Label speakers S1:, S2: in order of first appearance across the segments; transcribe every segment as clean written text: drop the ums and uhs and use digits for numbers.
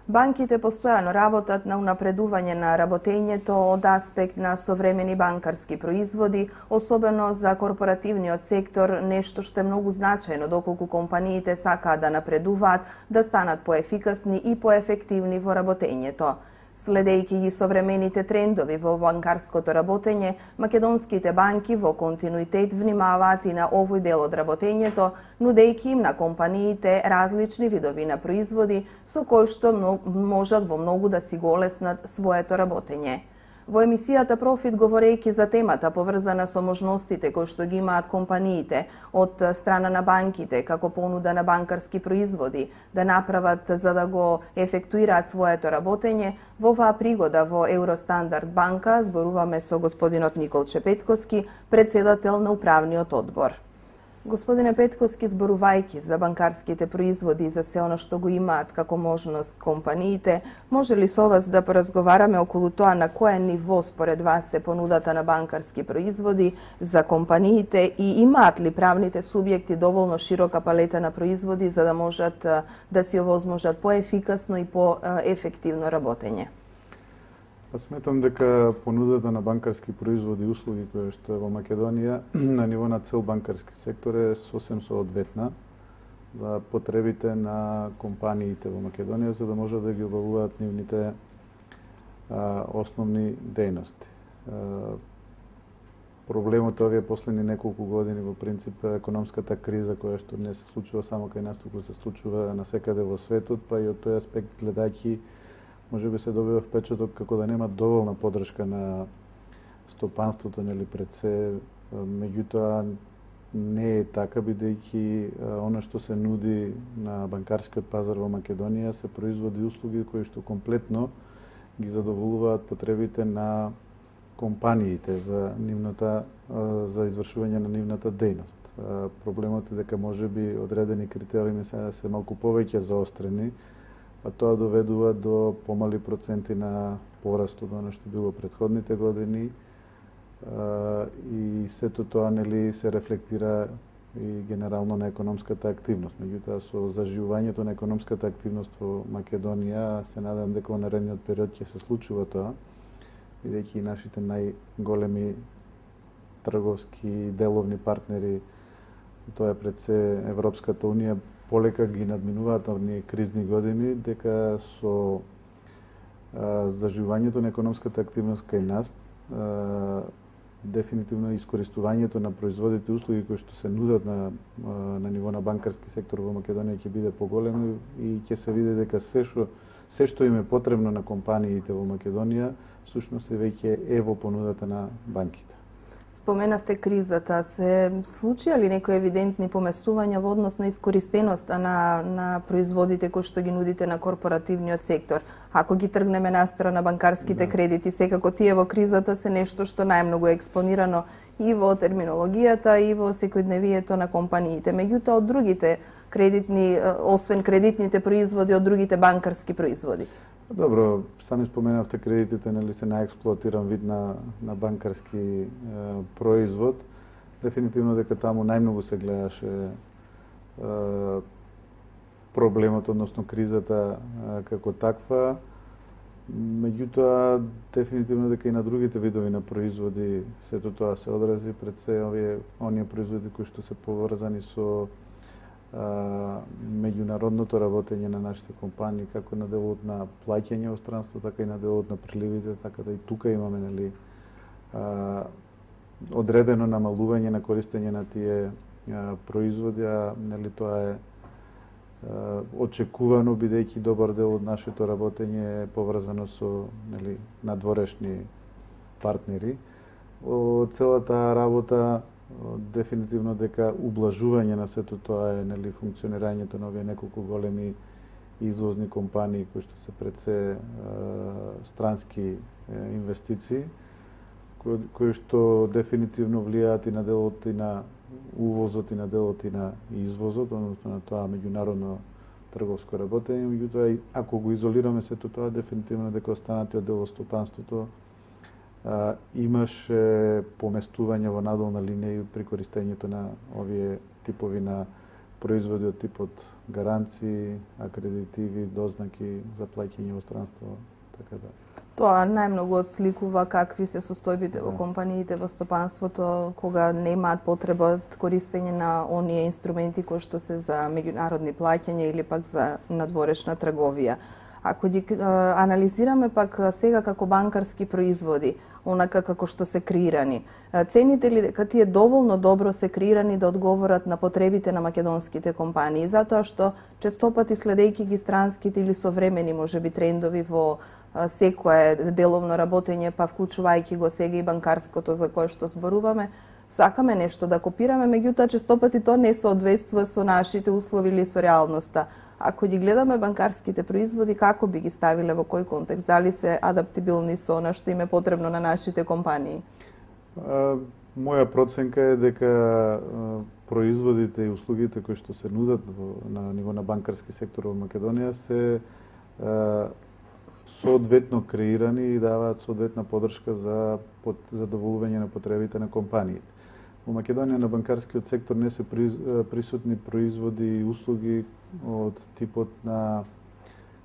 S1: Банките постојано работат на унапредување на работењето од аспект на современи банкарски производи, особено за корпоративниот сектор, нешто што е многу значајно доколку компаниите сакаат да напредуваат, да станат поефикасни и поефективни во работењето. Следејќи ги современите трендови во банкарското работење, македонските банки во континуитет внимаваат и на овој дел од работењето, нудејќи им на компаниите различни видови на производи со кои што можат во многу да си го олеснат своето работење. Во емисијата Профит, говорејќи за темата поврзана со можностите кои што ги имаат компаниите од страна на банките како понуда на банкарски производи да направат за да го ефектуираат своето работење, во оваа пригода во Евростандард банка зборуваме со господинот Николче Петковски, председател на управниот одбор. Господине Петковски, зборувајќи за банкарските производи и за се оно што го имаат како можност компаниите, може ли со вас да поразговараме околу тоа на кое ниво според вас е понудата на банкарски производи за компаниите и имаат ли правните субјекти доволно широка палета на производи за да можат да си овозможат поефикасно и поефективно работење?
S2: Сметам дека понудата на банкарски производи и услуги која што е во Македонија на ниво на цел банкарски сектор е сосем соодветна за потребите на компаниите во Македонија за да можат да ги обавуваат нивните основни дејности. Проблемот овие последни неколку години во принцип е економската криза која што не се случува само кај нас, туку се случува насекаде во светот, па и од тој аспект гледајќи може би се добива впечаток како да нема доволна поддршка на стопанството, нели пред се, меѓутоа не е така, бидејќи она што се нуди на банкарскиот пазар во Македонија се производи услуги кои што комплетно ги задоволуваат потребите на компаниите за за извршување на нивната дејност. Проблемот е дека можеби одредени критериуми се малку повеќе заострени, а тоа доведува до помали проценти на пораст од оно што било претходните години и сето тоа нели се рефлектира и генерално на економската активност. Меѓутоа со заживувањето на економската активност во Македонија се надам дека во наредниот период ќе се случува тоа, бидејќи нашите најголеми трговски деловни партнери, тоа е пред се Европската унија, полека ги надминуваат овие кризни години, дека со заживувањето на економската активност кај нас, дефинитивно искористувањето на производите и услуги кои што се нудат на ниво на банкарски сектор во Македонија ќе биде поголемо и ќе се види дека се што им е потребно на компаниите во Македонија, всушност веќе е во понудата на банките.
S1: Споменавте кризата. Се случија ли некои евидентни поместувања во однос на искористеноста на производите кои што ги нудите на корпоративниот сектор? Ако ги тргнеме настрана банкарските кредити, секако тие во кризата се нешто што најмногу е експонирано и во терминологијата и во секојдневието на компаниите. Меѓутоа од другите кредитни, освен кредитните производи, од другите банкарски производи?
S2: Добро, сами споменавте кредитите, нели се најексплоатиран вид на банкарски производ. Дефинитивно дека таму најмногу се гледаше проблемот, односно кризата како таква. Меѓутоа, дефинитивно дека и на другите видови на производи сето тоа се одрази пред се оние производи кои што се поврзани со меѓународното работење на нашите компании, како на делот на плаќање во странство, така и на делот на приливите, така да и тука имаме нели одредено намалување на користење на тие производи, а нели тоа е очекувано бидејќи добар дел од нашето работење е поврзано со нели надворешни партнери. Од целата работа дефинитивно дека ублажување на сето тоа е нели функционирањето на овие неколку големи извозни компании кои што се пред се странски инвестиции, кои што дефинитивно влијаат и на делот и на увозот и на делот и на извозот, односно на тоа меѓународно трговско работење. Меѓутоа, ако го изолираме сето тоа, дефинитивно дека останатиот дел од стопанството имаше поместување во надолна линија при користењето на овие типови на производи од типот гаранции, акредитиви, дознаки за плаќање во странство, така да.
S1: Тоа најмногу отсликува какви се состојбите во компаниите во стопанството кога немаат потреба од користење на оние инструменти кои што се за меѓународни плаќања или пак за надворешна трговија. Ако ги анализираме пак сега како банкарски производи, онака како што се креирани, цените ли дека тие доволно добро се креирани да одговорат на потребите на македонските компании, затоа што честопати следејќи ги странските или современи можеби трендови во секое деловно работење, па вклучувајќи го сега и банкарското за кое што зборуваме, сакаме нешто да копираме, меѓутоа честопати тоа не соодветствува со нашите услови или со реалноста. Ако ги гледаме банкарските производи, како би ги ставиле, во кој контекст? Дали се адаптибилни со она што им е потребно на нашите компании?
S2: Моја проценка е дека производите и услугите кои што се нудат на ниво на банкарски сектор во Македонија се соодветно креирани и даваат соодветна поддршка за задоволување на потребите на компаниите. Во Македонија на банкарскиот сектор не се присутни производи и услуги од типот на,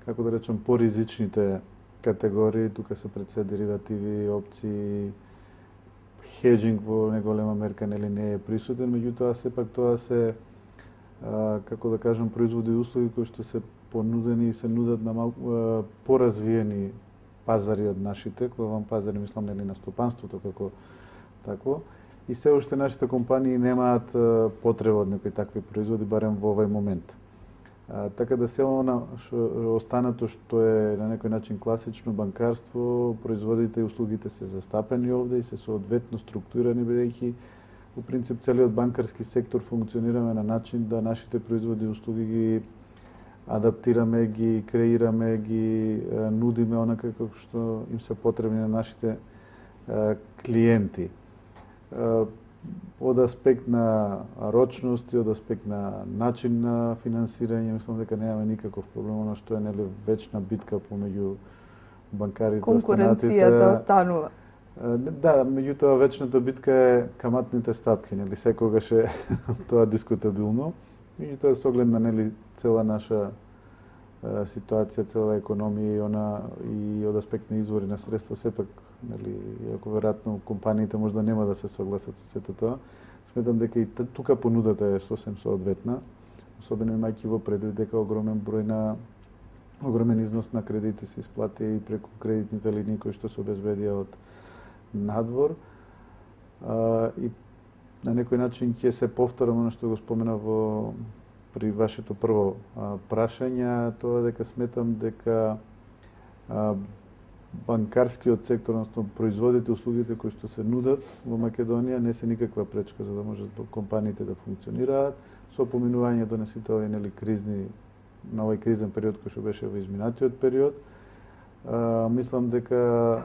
S2: како да речем, поризичните категории. Тука се пред се деривативи, опции, хеджинг во неголема мерка нели не е присутен, меѓутоа сепак тоа се, како да кажам, производи и услуги кои што се понудени и се нудат на малку поразвиени пазари од нашите, кога вам пазари мислам нели на стопанството како такво. И се уште нашите компании немаат потреба од некои такви производи, барем во овој момент. Така да се останато што е на некој начин класично банкарство, производите и услугите се застапени овде и се соодветно структурирани, бидејќи во принцип целиот банкарски сектор функционираме на начин да нашите производи и услуги ги адаптираме, ги креираме, ги нудиме онака како што им се потребни на нашите клиенти. Од аспект на рочност и од аспект на начин на финансирање, мислам дека немаме никаков проблем, она што е нели вечна битка помеѓу банкарите.
S1: Конкуренцијата останува.
S2: Да, меѓутоа вечната битка е каматните стапки, нели секогаш е тоа дискутабилно. Меѓутоа со оглед на нели цела наша ситуација, цела економија и од аспект на извори на средства, сепак, нели, иако веројатно компаниите можда нема да се согласат со сето тоа, сметам дека и тука понудата е сосем соодветна, особено имајќи во предвид дека огромен износ на кредити се исплати и преку кредитните линии кои што се обезбедија од надвор. И на некој начин ќе се повторам она што го спомена при вашето прво прашање, тоа дека сметам дека банкарскиот сектор, односно производите и услугите кои што се нудат во Македонија не се никаква пречка за да можат компаниите да функционираат со поминувањето на сите овие нели кризни на овој кризен период кој што беше во изминатиот период. Мислам дека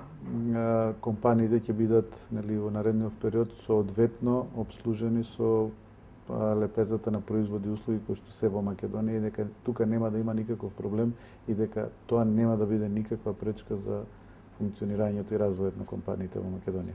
S2: компаниите ќе бидат нели во наредниот период соодветно обслужени со лепезата на производи и услуги кои што се во Македонија и дека тука нема да има никаков проблем и дека тоа нема да биде никаква пречка за функционирањето и развојот на компаниите во Македонија.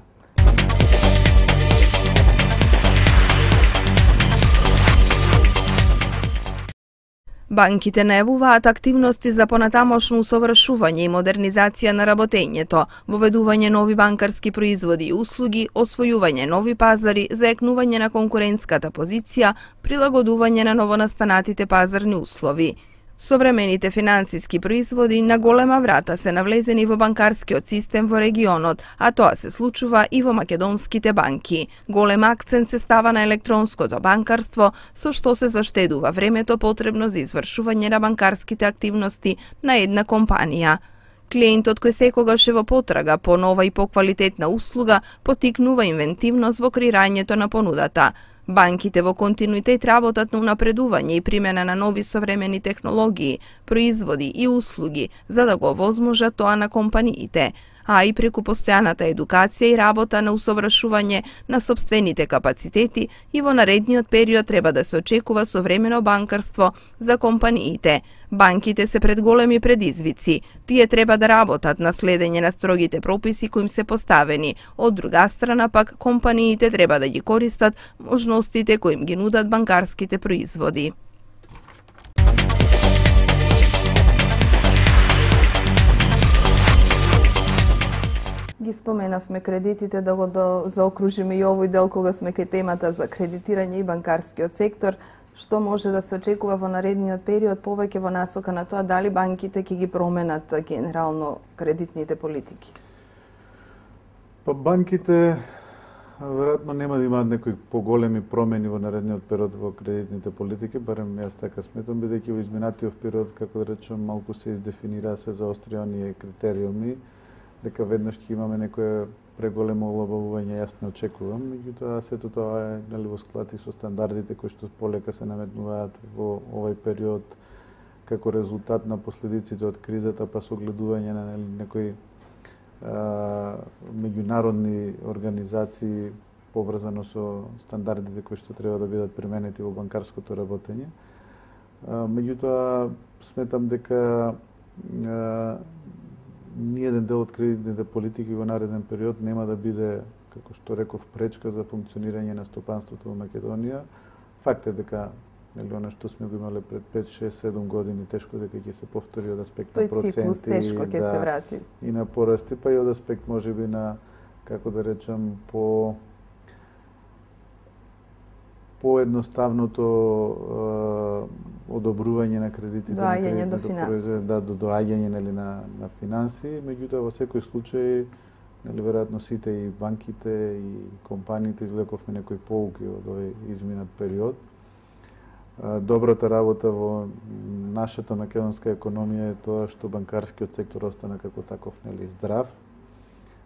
S1: Банките најавуваат активности за понатамошно усовршување и модернизација на работењето, воведување нови банкарски производи и услуги, освојување нови пазари, заекнување на конкурентската позиција, прилагодување на новонастанатите пазарни услови. Современите финансиски производи на голема врата се навлезени во банкарскиот систем во регионот, а тоа се случува и во македонските банки. Голем акцент се става на електронското банкарство, со што се заштедува времето потребно за извршување на банкарските активности на една компанија. Клиентот кој секогаш е во потрага по нова и поквалитетна услуга потикнува инвентивност во креирањето на понудата. Банките во континуитет работат на унапредување и примена на нови современи технологии, производи и услуги за да го овозможат тоа на компаниите, а и преку постојаната едукација и работа на усовршување на сопствените капацитети и во наредниот период треба да се очекува современо банкарство за компаниите. Банките се пред големи предизвици. Тие треба да работат на следење на строгите прописи кои им се поставени. Од друга страна пак, компаниите треба да ги користат можностите кои им ги нудат банкарските производи. споменавме кредитите, да го заокружиме и овој дел кога сме кај темата за кредитирање и банкарскиот сектор. Што може да се очекува во наредниот период, повеќе во насока на тоа дали банките ќе ги променат генерално кредитните политики?
S2: Па банките веројатно нема да имаат некои поголеми промени во наредниот период во кредитните политики, барем јас така сметам, бидејќи во изминатиот период, како да речем, малку се издефинира, се заостри оние критериуми, дека веднаш ќе имаме некое преголемо олабавување, јас не очекувам, меѓутоа сето тоа е нели во склад и со стандардите кои што полека се наметнуваат во овој период како резултат на последиците од кризата, па со гледување на некои меѓународни организации поврзано со стандардите кои што треба да бидат применети во банкарското работење. Меѓутоа сметам дека ниеден дел од кредитните политики во нареден период нема да биде, како што реков, пречка за функционирање на стопанството во Македонија. Факт е дека нели она што сме го имале пред 5, 6, 7 години тешко дека ќе се повтори од аспект на проценти.
S1: Тој циклус тешко ќе се врати.
S2: И на порасти, па и од аспект можеби на, како да речем, поедноставното одобрување на кредитите,
S1: доаѓање до финанси.
S2: Да, до доаѓање нели на финанси, меѓутоа во секој случај нели веројатно сите и банките и компаниите извлековме некои поуки од овој изминат период. Добрата работа во нашата македонска економија е тоа што банкарскиот сектор остана како таков нели здрав,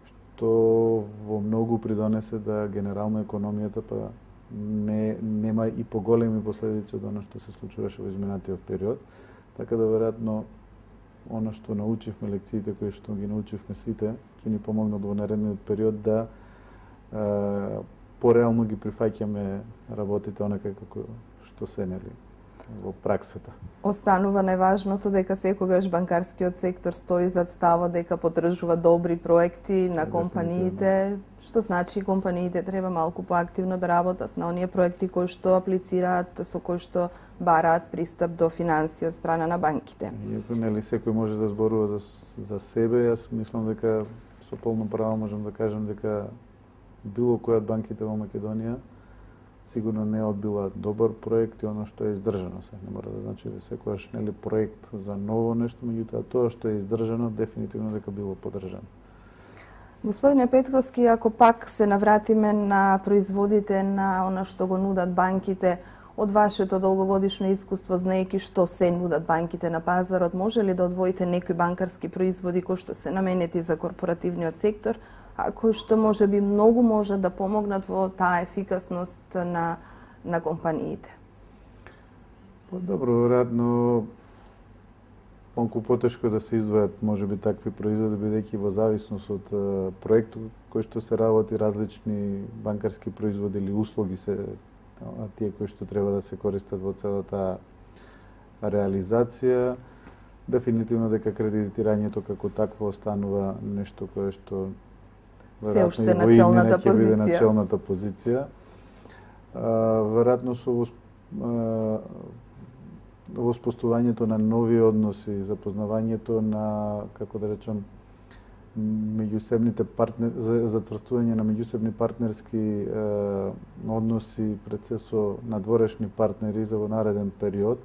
S2: што во многу придонесе да генерално економијата па нема и поголеми последици од оно што се случуваше во изминатиот период, така да веројатно оно што научивме, лекциите кои што ги научивме сите, ќе ни помогнат во наредниот период да пореално ги прифаќаме работите онака како што се нели во праксата.
S1: Останува најважното дека секогаш банкарскиот сектор стои зад ставот дека поддржува добри проекти на компаниите, што значи компаниите треба малку поактивно да работат на оние проекти кои што аплицираат, со кои што бараат пристап до финанси од страна на банките.
S2: Иако нели секој може да зборува за себе, јас мислам дека со полно право можам да кажам дека било кој од банките во Македонија сигурно не одбила добар проект и оно што е издржано. Се не мора да значи да секојаш нели проект за ново нешто, меѓутоа тоа што е издржано дефинитивно дека било поддржано.
S1: Господине Петковски, ако пак се навратиме на производите на она што го нудат банките, од вашето долгогодишно искуство, знаејќи што се нудат банките на пазарот, може ли да одвоите некои банкарски производи кои што се наменети за корпоративниот сектор, а кои што можеби многу може да помогнат во таа ефикасност на компаниите?
S2: Па добро, веројатно малку потешко да се издвојат можеби такви производи, бидејќи во зависност од проектот кој што се работи, различни банкарски производи или услуги се тие кои што треба да се користат во целата реализација. Дефинитивно дека кредитирањето како такво останува нешто кое што
S1: се уште начелната позиција.
S2: Начелната позиција. Веројатно со воспоставувањето на нови односи, запознавањето на, како да речем, меѓусебните затврстување на меѓусебни партнерски односи пред се со надворешни партнери за во нареден период,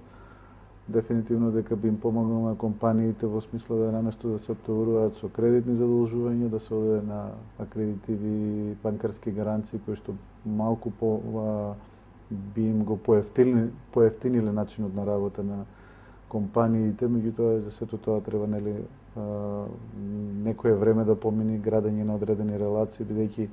S2: дефинитивно дека би им помогнал на компаниите во смисла да наместо да се оптоваруваат со кредитни задолжувања, да се оде на акредитиви банкарски гаранции кои што малку би им го поевтиниле начинот на работа на компаниите, меѓутоа за сето тоа треба нели некое време да помине градење на одредени релации, бидејќи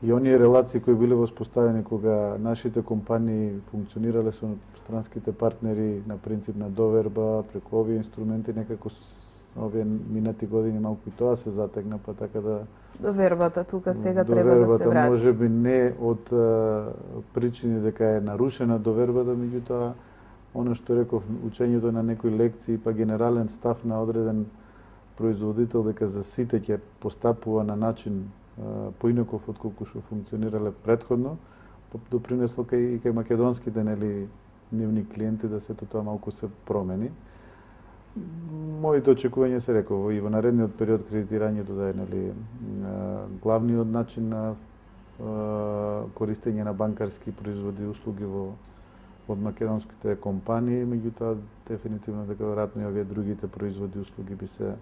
S2: и оние релации кои биле воспоставени кога нашите компании функционирале со странските партнери на принцип на доверба, преку овие инструменти, некако со овие минати години малку и тоа се затегна, па така да...
S1: Довербата тука сега треба да се врати.
S2: Можеби не од причини дека е нарушена довербата, меѓутоа оно што реков, учењето на некои лекции, па генерален став на одреден производител дека за сите ќе постапува на начин поинаков од колку што функционирале претходно, допринесло кај македонските нели нивни клиенти да сето тоа малку се промени. Моите очекувања се реков и во наредниот период кредитирањето да е главниот начин на користење на банкарски производи и услуги од македонските компании, меѓутоа дефинитивно дека веројатно и овие другите производи и услуги би се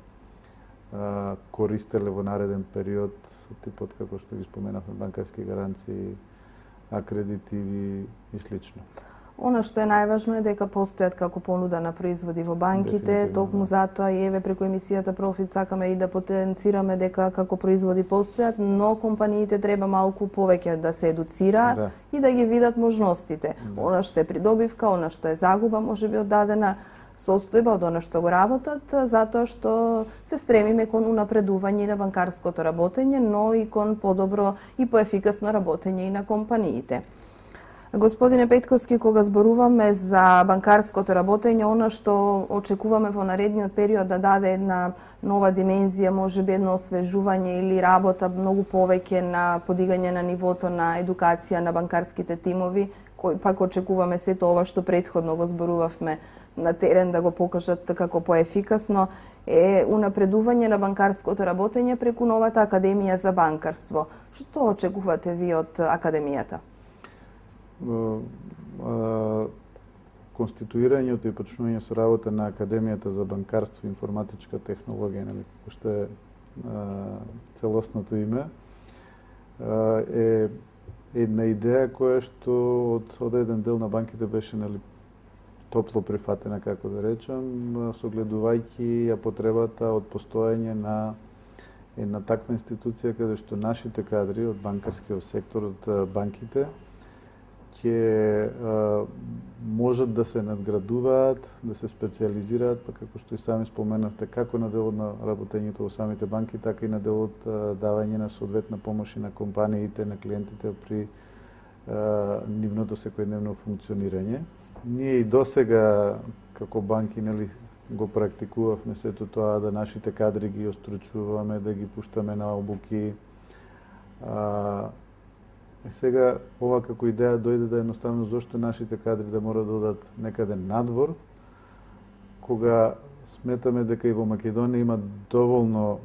S2: користеле во нареден период, типот како што ги споменавме, банкарски гаранции, акредитиви и слично.
S1: Она што е најважно е дека постојат како понуда на производи во банките, токму затоа и еве преку емисијата Профит сакаме и да потенцираме дека како производи постојат, но компаниите треба малку повеќе да се едуцираат и да ги видат можностите. Она што е придобивка, она што е загуба, можеби од дадена состојба од она што го работат, затоа што се стремиме кон унапредување на банкарското работење, но и кон подобро и поефикасно работење и на компаниите. Господине Петковски, кога зборуваме за банкарското работење, она што очекуваме во наредниот период да даде една нова димензија, можеби едно освежување или работа многу повеќе на подигање на нивото на едукација на банкарските тимови, кои пак очекуваме сето ова што претходно го зборувавме на терен да го покажат како поефикасно, е унапредување на банкарското работење преку новата Академија за банкарство. Што очекувате ви од Академијата?
S2: Конституирањето и почнување со работа на Академијата за банкарство и информатичка технологија, како што е целосното име, е една идеја која што од еден дел на банките беше топло прифатена, како да речам, согледувајќи ја потребата од постоење на една таква институција каде што нашите кадри од банкарскиот сектор, од банките, ќе можат да се надградуваат, да се специализираат, па како што и сами споменавте, како на делот на работењето во самите банки, така и на делот давање на соодветна помош и на компаниите, на клиентите при нивното секојдневно функционирање. Ние и досега како банки го практикувавме сето тоа, да нашите кадри ги остручуваме, да ги пуштаме на обуки. Сега ова како идеја дојде да едноставно зошто нашите кадри да мора да одат некаде надвор, кога сметаме дека и во Македонија има доволно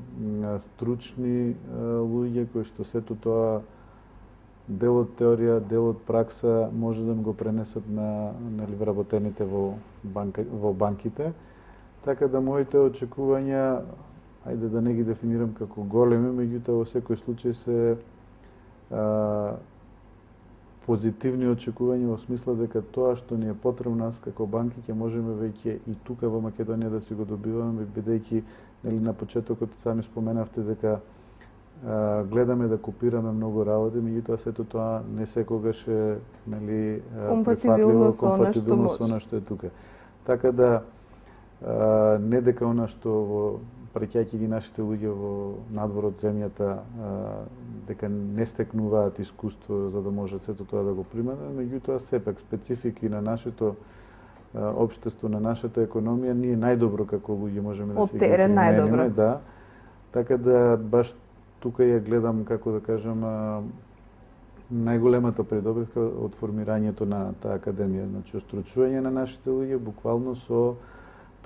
S2: стручни луѓе кои што сето тоа дел од теорија, дел од пракса може да го пренесат на вработените во банките. Така да моите очекувања, ајде да не ги дефинирам како големи, меѓутоа во секој случај се позитивни очекувања во смисла дека тоа што ни е потребно нас како банки ќе можеме веќе и тука во Македонија да си го добиваме, бидејќи на почетокот сами споменавте дека гледаме да копираме многу работи, меѓутоа сето тоа не секогаш е
S1: компатибилно со
S2: она што е тука. Така да не дека она што праќајќи ги нашите луѓе во надвор од земјата, дека не стекнуваат искуство за да можат сето тоа да го применат, меѓутоа сепак специфики на нашето општество, на нашата економија, ние најдобро како луѓе можеме да се ги примениме, да. Така да баш тука ја гледам, како да кажам, најголемата придобивка од формирањето на таа академија, значи остручување на нашите луѓе буквално со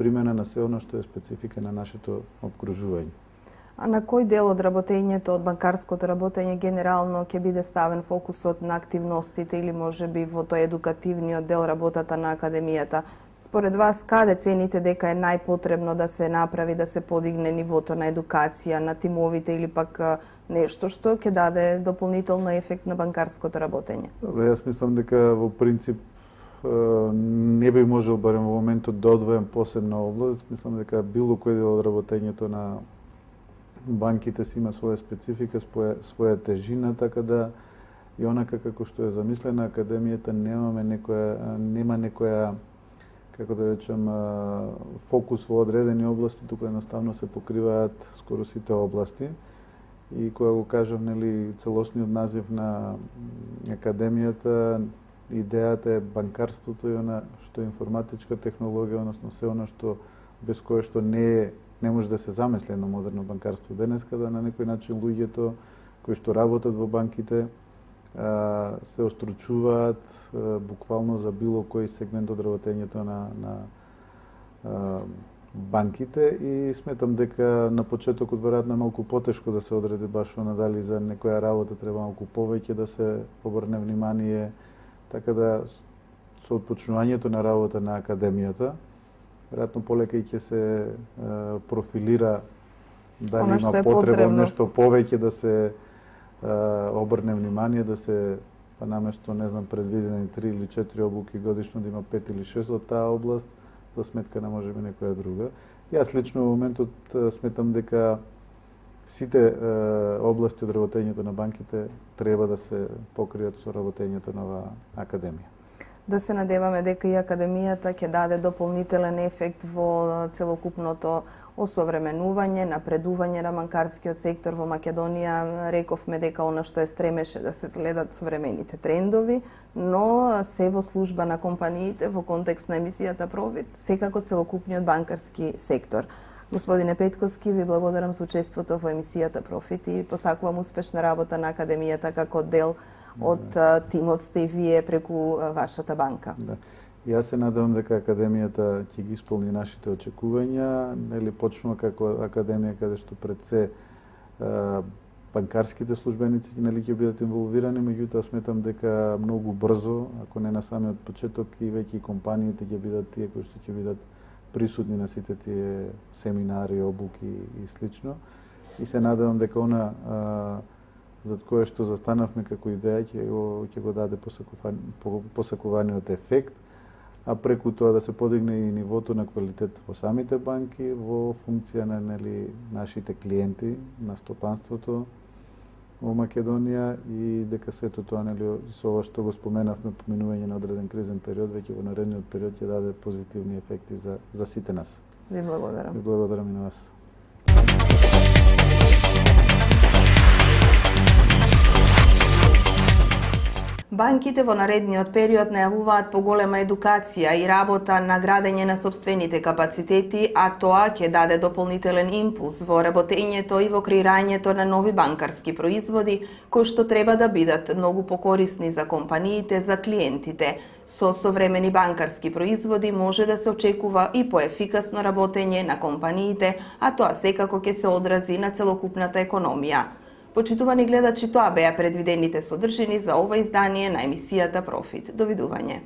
S2: примена на се оно што е специфика на нашето обкружување.
S1: А на кој дел од работењето, од банкарското работење генерално ќе биде ставен фокусот на активностите или можеби во тој едукативниот дел работата на академијата? Според вас, каде цените дека е најпотребно да се направи, да се подигне нивото на едукација на тимовите или пак нешто што ќе даде дополнително ефект на банкарското работење?
S2: Јас мислам дека во принцип не би можел барем во моментот да одвојам посебна област. Мислам дека било кој дел од работењето на банките си има своја специфика, своја тежина, така да и онака како што е замислена академијата нема некоја како да речем фокус во одредени области, тука едноставно се покриваат скоро сите области. И кога го кажав, целосниот назив на академијата, идејата е банкарството и она што е информатичка технологија, односно се она што без кое што не може да се замисли едно модерно банкарство денеска, да на некој начин луѓето кои што работат во банките се остручуваат буквално за било кој сегмент од работењето на банките и сметам дека на почетокот веројатно е малку потешко да се одреди баш она дали за некоја работа треба малку повеќе да се обрне внимание, така да со отпочнувањето на работа на академијата веројатно полека ќе се профилира дали има потреба нешто повеќе да се обрне внимание, да се па наместо не знам предвидени 3 или 4 обуки годишно да има 5 или 6 од таа област за сметка на можеби некоја друга. Јас лично во моментот сметам дека сите области од работењето на банките треба да се покријат со работењето на оваа академија.
S1: Да се надеваме дека и академијата ќе даде дополнителен ефект во целокупното осовременување, напредување на банкарскиот сектор во Македонија. Рековме дека она што стремеше да се следат современите трендови, но се во служба на компаниите во контекст на емисијата Профит, секако целокупниот банкарски сектор. Господине Петковски, ви благодарам за учеството во емисијата Профит и посакувам успешна работа на академијата како дел од тимот сте и вие преку вашата банка.
S2: Да. Јас се надевам дека академијата ќе ги исполни нашите очекувања, нели почнува како академија каде што пред се банкарските службеници нели ќе бидат инволвирани, меѓутоа сметам дека многу брзо, ако не на самиот почеток, и веќе компаниите ќе бидат тие кои што ќе бидат присутни на сите тие семинари, обуки и слично. И се надевам дека она зад кое што застанавме како идеја ќе го даде посакуваниот ефект, а преку тоа да се подигне и нивото на квалитет во самите банки во функција на нашите клиенти, на стопанството во Македонија, и дека сето тоа со ова што го споменавме, поминување на одреден кризен период, веќе во наредниот период ќе даде позитивни ефекти за сите нас.
S1: Ви благодарам.
S2: Ви благодарам и на вас.
S1: Банките во наредниот период најавуваат поголема едукација и работа на градење на сопствените капацитети, а тоа ќе даде дополнителен импулс во работењето и во креирањето на нови банкарски производи, кои што треба да бидат многу покорисни за компаниите, за клиентите. Со современи банкарски производи може да се очекува и поефикасно работење на компаниите, а тоа секако ќе се одрази на целокупната економија. Почитувани гледачи, тоа беа предвидените содржини за ова издание на емисијата Профит. Довидување.